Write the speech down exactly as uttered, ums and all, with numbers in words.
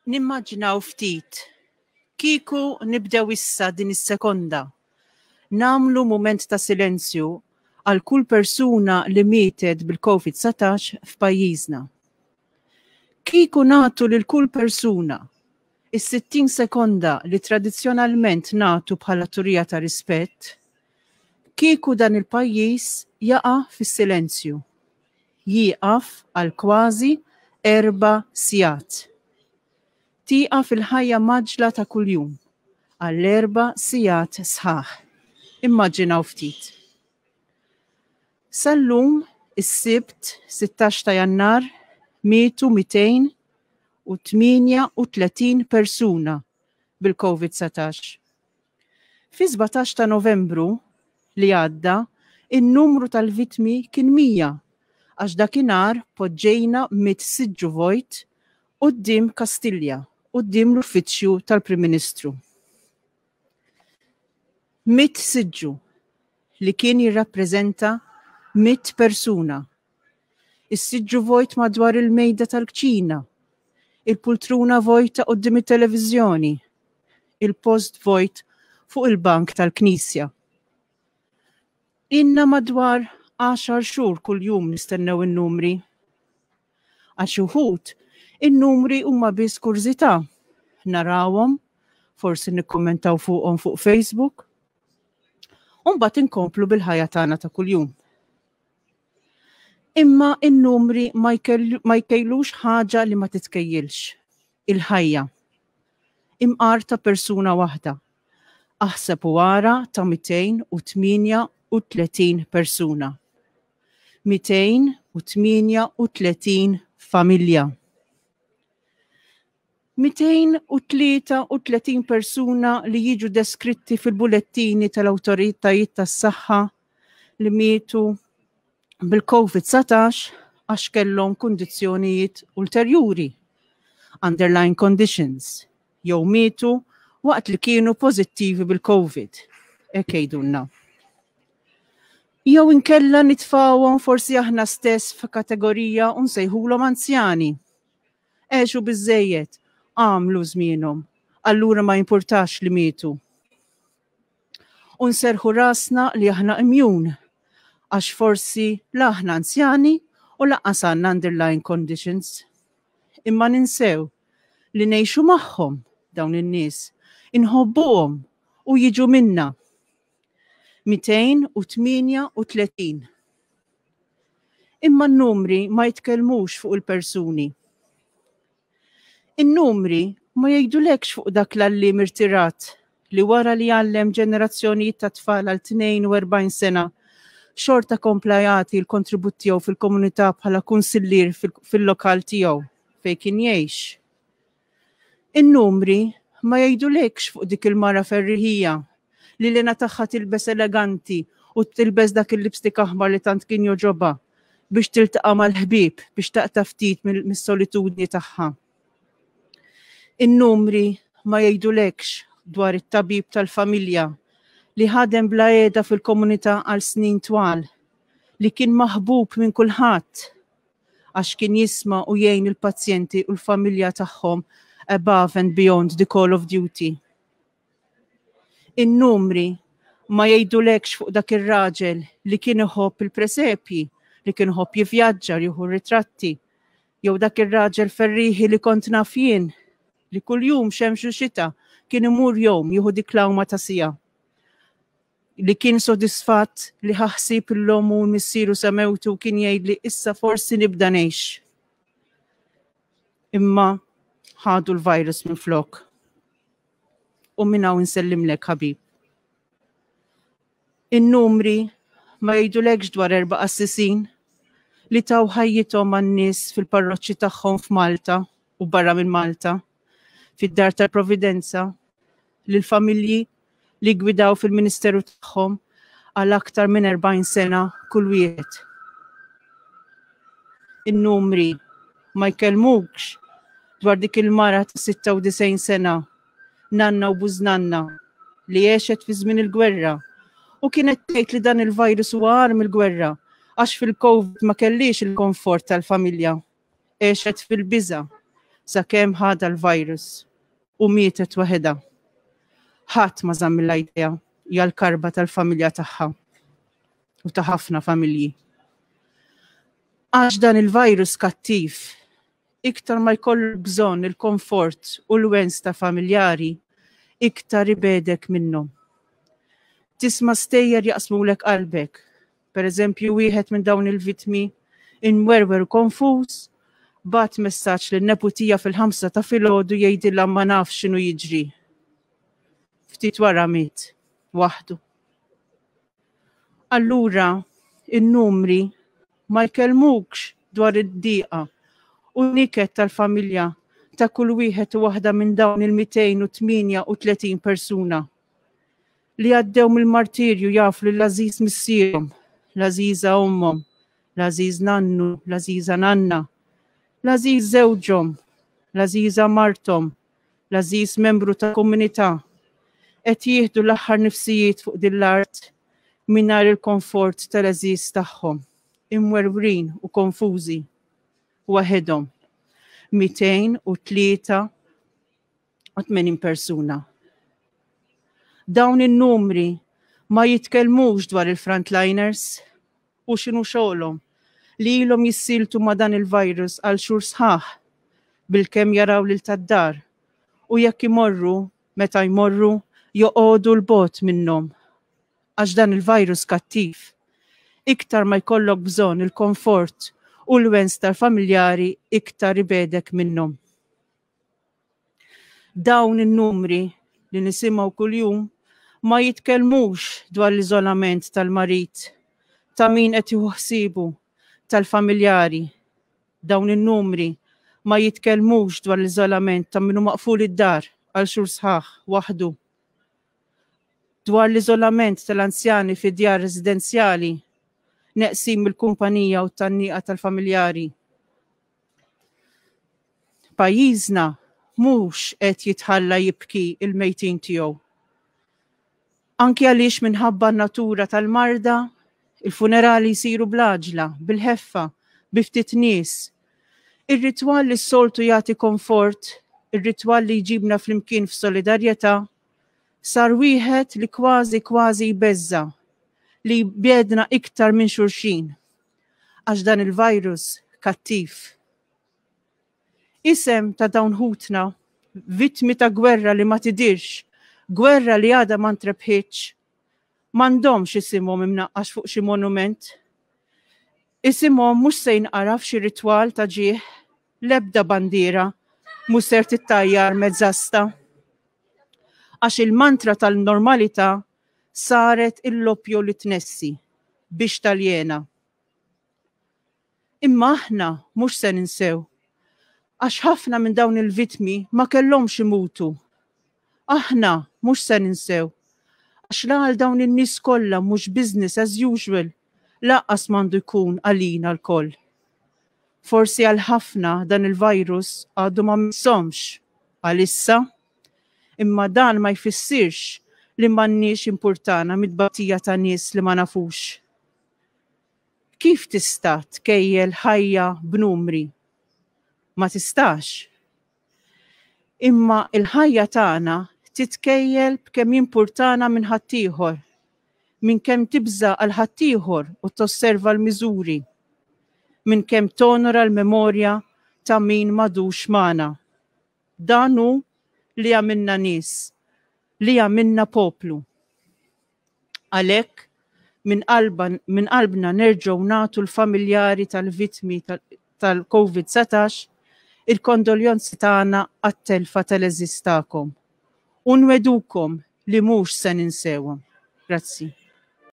Nimmaġinaw ftit, kieku nibdew issa din is-sekonda, nagħmlu mument ta' silenzju għal kull persuna li mietet bil-Covid dsatax f'pajjiżna. Kieku nagħtu lil kull persuna is-sittin sekonda li tradizzjonalment nagħtu bħala turija ta' rispett, kieku dan il-pajjiż jaqa' fis-silenzju, jieqaf għal kważi erba' sigħat. Tieqaf il-ħajja mgħaġġla ta' kuljum għal erba' sigħat sħaħ. Immaġinaw ftit. Sal-lum, is-Sibt sittax ta' Jannar, mietu mitejn u tmienja u tletin persuna bil-Covid dsatax. Fi sbatax ta' Novembru li għadda, in-numru tal-vittmi kien mija, għax dakinhar poġġejna mitt siġġu vojt quddiem Kastilja, quddiem l-uffiċċju tal-Prim Ministru. Mitt siġġu li kien jirrappreżenta mitt persuna. Is-siġġu vojt madwar il-mejda tal-kċina, il-pultruna vojta quddiem it-televiżjoni, il-post vojt fuq il-bank tal-knisja. Inna madwar għaxar xhur kuljum nistennew in-numri. Għal xi wħud, in-numri huma biss kurżità. Narawhom, forsi nikkommentaw fuqhom fuq Facebook, u mbagħad inkomplu bil-ħajja tagħna ta' kuljum. Imma in-numri ma jkejlux ħaġa li ma titkejjilx, il-ħajja. Imqar ta' persuna waħda. Aħseb u ara ta' mitejn u tmienja u tletin persuna. Mitejn u tmienja u tletin familja. Mitejn u tlieta u tletin persuna li jiġu deskritti fil-bulettini tal-awtoritajiet tas-saħħa li mietu bil-Covid dsatax għax kellhom kundizzjonijiet ulterjuri, underlying conditions, jew mietu waqt li kienu pożittivi bil-Covid. Hekk jgħidulna. Jew inkella nitfawhom forsi aħna stess f'kategorija u nsejħulhom anzjani. Għexu biżejjed, għamlu żmienhom, allura ma jimpurtax li mietu. U nserħu rasna li aħna immune, għax forsi la aħna anzjani u lanqas għandna underlying conditions. Imma ninsew li ngħixu magħhom dawn in-nies, inħobbuhom u jiġu minna. Mitejn u tmienja u tletin. Imma n-numri ma jitkellmux fuq il-persuni. In-numri ma jgħidulekx fuq dak l-għalliem irtirat li wara li għallem ġenerazzjonijiet ta' tfal għal tnejn u erbgħin sena, xorta kompla jagħti l-kontribut tiegħu fil-komunità bħala kunsillier fil-lokal tiegħu fejn kien jgħix. In-numri ma jgħidulekx fuq dik il-mara ferriħija li l-għena tagħha tilbes eleganti u tilbes dak il-lipstick aħmar li tant kien joġobha biex tiltaqa' mal-ħbieb biex taqta' ftit mis-solitudni tagħha. In-numri ma jgħidulekx dwar it-tabib tal-familja li ħadem bla qiegħda fil-komunità għal snin twal, li kien maħbub minn kulħadd għax kien jisma' u jgħin il-pazjenti u l-familja tagħhom above and beyond the call of duty. In-numri ma jgħidulekx fuq dak ir-raġel li kien iħobb il-presepji, li kien iħobb jivvjaġġa, jieħu ritratti, jew dak ir-raġel ferriħi li kont naf jien, li kuljum xemx u xita kien imur jom jieħu dik l-għawma ta' sija. Li kien sodisfatt li ħaħsib l-omm u l-missieru sa mewtu kien jgħidli issa forsi nibda ngħix. Imma ħadu l-virus minn flok. U minn hawn insellimlek ħabib. In-numri ma jgħidulekx dwar erba' qassisin li taw ħajjithom għan-nies fil-parroċċi tagħhom f'Malta u barra minn Malta, fid-dar tal-Providenza, lill-familji li gwidaw fil-ministeru tagħhom għal aktar minn erbgħin sena kull wieħed. In-numri ma jkellmukx dwar dik il-mara ta' sitta u disgħin sena, nanna u bużnanna, li għexet fi żmien il-gwerra u kienet tgħid li dan il-virus huwa agħar mill-gwerra għax fil-COVID ma kellix il-komfort tal-familja. Għexet fil-biża sakemm ħadha l-virus u mietet waħedha. Ħadd ma żammilha idejha għall-karba tal-familja tagħha u ta' ħafna familji. Għax dan il-virus kattiv, iktar ma jkollu bżonn il-komfort u l-wens ta' familjari, iktar ibegħdek minnhom. Tisma' stejjer jaqsmulek qalbek. Per eżempju, wieħed minn dawn il-vitmi imwerwer u konfuż, bagħat messaġġ lin-neputija fil-ħamsa ta' filgħodu jgħidilha ma nafx x'inhu jiġri. Ftit wara miet, waħdu. Allura, in-numri ma jkellmukx dwar id-diqa u niket tal-familja ta' kull wieħed u waħda minn dawn il-mitejn u tmienja u tletin persuna li għaddew mill-martirju jafu li l-għażiż missierhom, l-għażiża ommhom, l-għażiż nannu, l-għażiża nanna, l-għażiż żewġhom, l-għażiża marthom, l-għażiż membru ta' komunità, qed jieħdu l-aħħar nifsijiet fuq din l-art mingħajr il-komfort tal-għażiż tagħhom, imwerwrin u konfużi, waħedhom. mitejn u tlieta u tmenin persuna. Dawn in-numri ma jitkellmux dwar il-frontliners u x'inhu xogħolhom li ilhom jissieltu ma' dan il-virus għal xhur sħaħ bilkemm jaraw lil tad-dar u jekk imorru, meta jmorru, joqogħdu 'l bogħod minnhom. Għax dan il-virus kattiv. Iktar ma jkollok bżonn il-komfort u l-wens tal-familjari iktar ibegħdek minnhom. Dawn in-numri li nisimgħu kuljum ma jitkellmux dwar l-iżolament tal-marid, ta' min qed jieħu ħsiebu, tal-familjari. Dawn in-numri ma jitkellmux dwar l-iżolament ta' min hu maqful id-dar għal xhur sħaħ waħdu. Dwar l-iżolament tal-anzjani fi djar residenzjali, neqsin mill-kumpanija u t-tgħanniqa tal-familjari. Pajjiżna mhux qed jitħalla jibki il-mejtin tiegħu. Anki għaliex minħabba n-natura tal-marda, il-funerali jsiru bl-għaġla, bil-ħeffa, bi ftit nies. Ir-ritwal li s-soltu jagħti komfort, ir-ritwal li jġibna flimkien f'solidarjetà, sar wieħed li kważi kważi jbeżża, li jbiegħedna iktar minn xulxin, għax dan il-virus kattiv. Isem ta' dawn ħutna, vittmi ta' gwerra li ma tidirx, gwerra li għadha ma ntrebħitx, m'għandhomx isimhom imnaqqax fuq xi monument. Isimhom mhux se jinqara f'xi ritwal ta' ġieħ, l-ebda bandiera mhux ser tittajjar mezzasta. Għax il-mantra tal-normalità saret il-loppju li tnessi biex taljena. Imma aħna mhux se ninsew, għax ħafna minn dawn il-vittmi ma kellhomx imutu. Aħna mhux se ninsew, għax la għal dawn in-nies kollha mhux business as usual, lanqas m'għandu jkun għalina lkoll. Forsi għal ħafna dan il-virus għadu ma missomx għalissa, imma dan ma jfissirx li m'għandniex jimpurtana mit-tbatija ta' nies li ma nafux. Kif tista' tkejjel ħajja b'numri? Ma tistax. Imma il-ħajja tagħna titkejjel b'kemm jimpurtana minn ħaddieħor, minn kemm tibża' għal ħaddieħor u tosserva l-miżuri, minn kemm tonora l-memorja ta' min m'għadux magħna. Dan hu li għamilna nies, li għamilna poplu. Għalhekk minn qalba, minn qalbna nerġgħu nagħtu l-familjari tal-vittmi tal-Covid satax il-kondoljonzi tagħna għat-telfa tal-għeżież tagħkom. U nwedukom li mhux se ninsewhom. Grazzi.